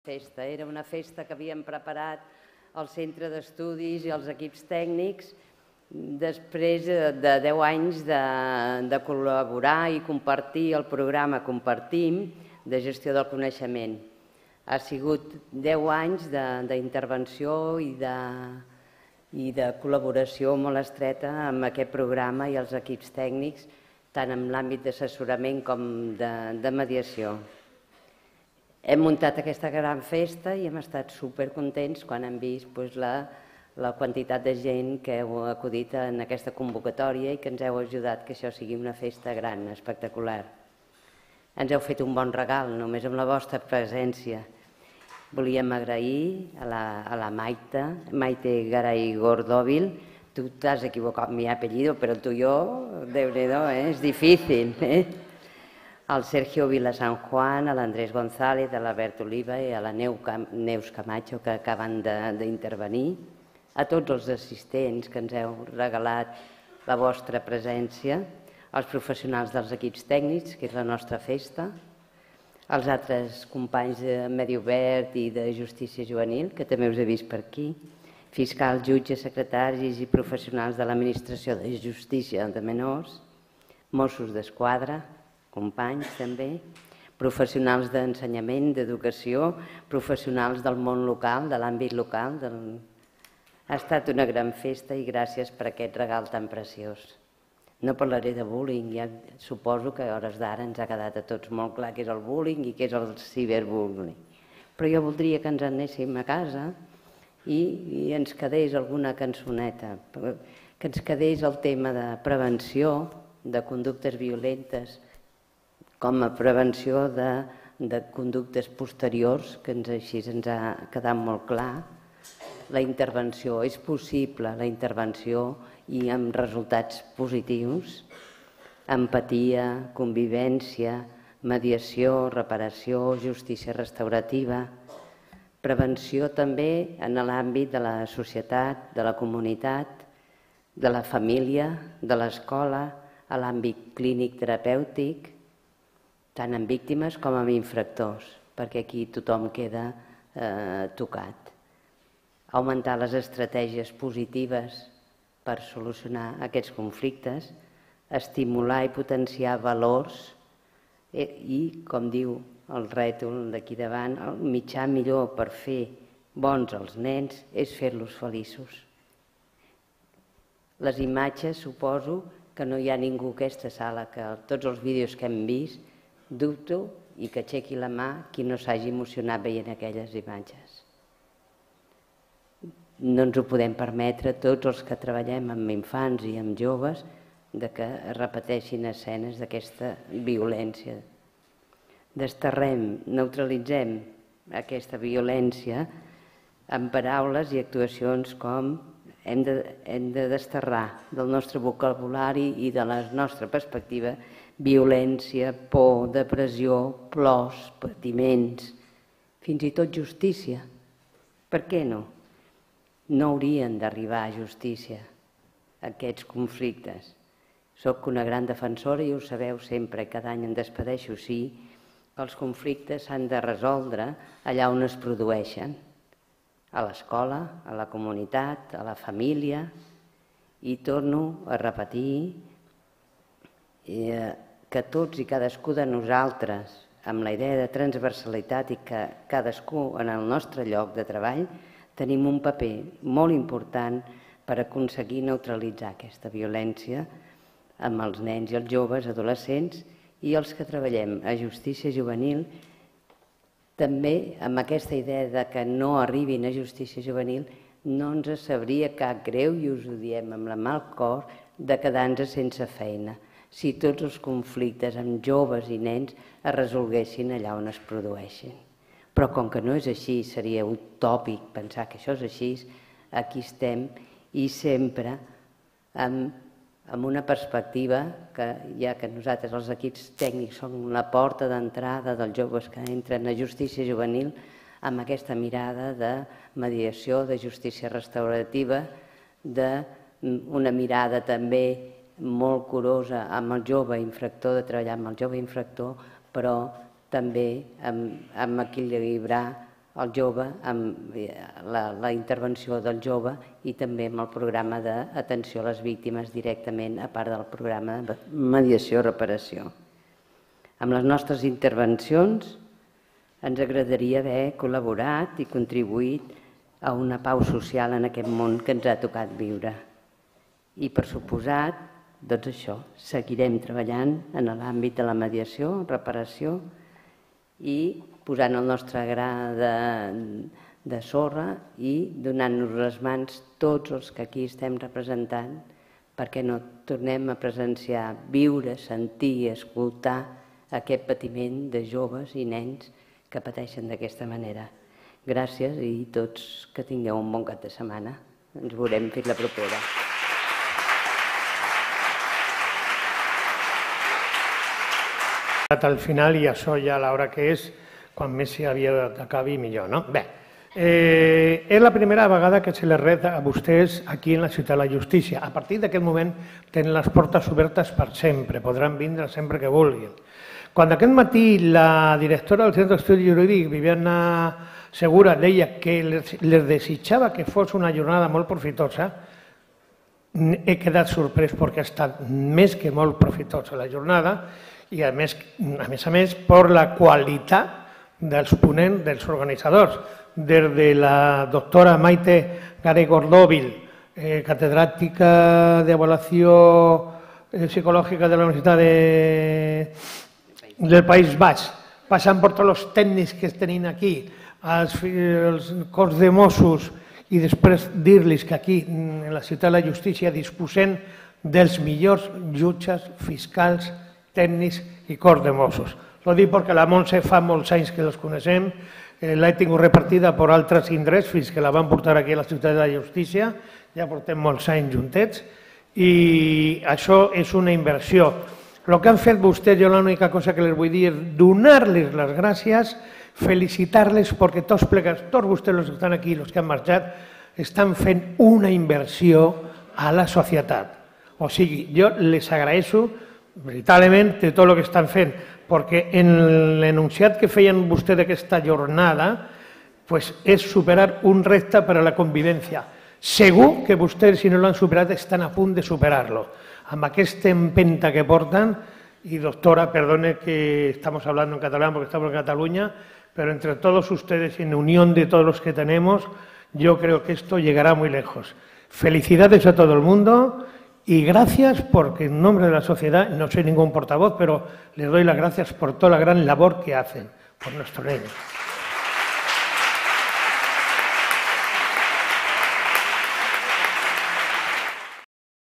Festa. Era una festa que havíem preparat el centre d'estudis i els equips tècnics després de 10 anys de col·laborar i compartir el programa Compartim de gestió del coneixement. Ha sigut 10 anys d'intervenció i de col·laboració molt estreta amb aquest programa i els equips tècnics, tant en l'àmbit d'assessorament com de mediació. Hem muntat aquesta gran festa i hem estat supercontents quan hem vist la quantitat de gent que heu acudit en aquesta convocatòria i que ens heu ajudat que això sigui una festa gran, espectacular. Ens heu fet un bon regal, només amb la vostra presència. Volíem agrair a la Maite Garay Gordóvil. Tu t'has equivocat amb mi apellido, però el tuyo, Déu-n'hi-do, és difícil, al Sergio Vila San Juan, a l'Andrés González, a l'Albert Oliva i a la Neus Camacho, que acaben d'intervenir, a tots els assistents que ens heu regalat la vostra presència, als professionals dels equips tècnics, que és la nostra festa, als altres companys de Medi Obert i de Justícia Juvenil, que també us he vist per aquí, fiscals, jutges, secretaris i professionals de l'Administració de Justícia de Menors, Mossos d'Esquadra, companys també, professionals d'ensenyament, d'educació, professionals del món local, de l'àmbit local. Ha estat una gran festa i gràcies per aquest regal tan preciós. No parlaré de bullying, ja suposo que a hores d'ara ens ha quedat a tots molt clar què és el bullying i què és el ciberbullying. Però jo voldria que ens anéssim a casa i ens quedés alguna cançoneta, que ens quedés el tema de prevenció de conductes violentes, com a prevenció de conductes posteriors, que així ens ha quedat molt clar. La intervenció, és possible la intervenció i amb resultats positius, empatia, convivència, mediació, reparació, justícia restaurativa, prevenció també en l'àmbit de la societat, de la comunitat, de la família, de l'escola, a l'àmbit clínic terapèutic, tant en víctimes com en infractors, perquè aquí tothom queda tocat. Augmentar les estratègies positives per solucionar aquests conflictes, estimular i potenciar valors i, com diu el rètol d'aquí davant, el mitjà millor per fer bons els nens és fer-los feliços. Les imatges, suposo que no hi ha ningú a aquesta sala, que tots els vídeos que hem vist, dubto i que aixequi la mà qui no s'hagi emocionat veient aquelles imatges. No ens ho podem permetre tots els que treballem amb infants i amb joves que es repeteixin escenes d'aquesta violència. Desterrem, neutralitzem aquesta violència amb paraules i actuacions com hem de desterrar del nostre vocabulari i de la nostra perspectiva violència, por, depressió, plors, patiments, fins i tot justícia. Per què no? No haurien d'arribar a justícia aquests conflictes. Soc una gran defensora i ho sabeu sempre, cada any em despedeixo, sí, que els conflictes s'han de resoldre allà on es produeixen, a l'escola, a la comunitat, a la família, i torno a repetir que tots i cadascú de nosaltres, amb la idea de transversalitat i que cadascú en el nostre lloc de treball, tenim un paper molt important per aconseguir neutralitzar aquesta violència amb els nens i els joves, adolescents i els que treballem a justícia juvenil, també amb aquesta idea que no arribin a justícia juvenil no ens sabria cap greu, i us ho diem amb la mà al cor, de quedar-nos sense feina si tots els conflictes amb joves i nens es resolguessin allà on es produeixen. Però com que no és així, seria utòpic pensar que això és així, aquí estem i sempre amb una perspectiva que ja que nosaltres els equips tècnics som la porta d'entrada dels joves que entren a justícia juvenil, amb aquesta mirada de mediació, de justícia restaurativa, d'una mirada també molt curosa amb el jove infractor, de treballar amb el jove infractor, però també amb equilibrar el jove, amb la intervenció del jove i també amb el programa d'atenció a les víctimes directament, a part del programa de mediació i reparació. Amb les nostres intervencions ens agradaria haver col·laborat i contribuït a una pau social en aquest món que ens ha tocat viure. I per suposat, doncs això, seguirem treballant en l'àmbit de la mediació, reparació i posant el nostre gra de sorra i donant-nos les mans tots els que aquí estem representant perquè no tornem a presenciar, viure, sentir i escoltar aquest patiment de joves i nens que pateixen d'aquesta manera. Gràcies i tots que tingueu un bon cap de setmana. Ens veurem fins la propera. Al final, i això ja a l'hora que és, quan més s'hi havia d'acabar millor, no? Bé, és la primera vegada que se les ret a vostès aquí en la Ciutat de la Justícia. A partir d'aquest moment tenen les portes obertes per sempre, podran vindre sempre que vulguin. Quan aquest matí la directora del Centre d'Estudi Jurídic, Viviana Segura, deia que les desitjava que fos una jornada molt profitosa, he quedat sorprès perquè ha estat més que molt profitosa la jornada i a més a més per la qualitat dels ponents, dels organitzadors, des de la doctora Maite Garay-Gordòvil, catedràtica d'avaluació psicològica de la Universitat del País Basc, passant per tots els tècnics que tenim aquí, els cos de Mossos, i després dir-los que aquí, en la Ciutat de la Justícia, disposem dels millors jutges, fiscals, tècnics i cos de Mossos. Ho dic perquè la Montse fa molts anys que els coneixem, l'he tingut repartida per altres indrets fins que la van portar aquí a la Ciutat de la Justícia, ja portem molts anys juntets, i això és una inversió. El que han fet vostès, jo l'única cosa que les vull dir és donar-les les gràcies, felicitar-les perquè tots plegats, tots vostès els que estan aquí, els que han marxat, estan fent una inversió a la societat. O sigui, jo les agraeixo veritablement de tot el que estan fent, perquè en l'enunciat que feien vostès d'aquesta jornada és superar un repte per a la convivència. Segur que vostès, si no l'han superat, estan a punt de superar-lo. Amb aquesta empenta que porten, y doctora, perdone que estamos hablando en catalán porque estamos en Cataluña, pero entre todos ustedes, en unión de todos los que tenemos, yo creo que esto llegará muy lejos. Felicidades a todo el mundo y gracias porque en nombre de la sociedad, no soy ningún portavoz, pero les doy las gracias por toda la gran labor que hacen por nuestros niños.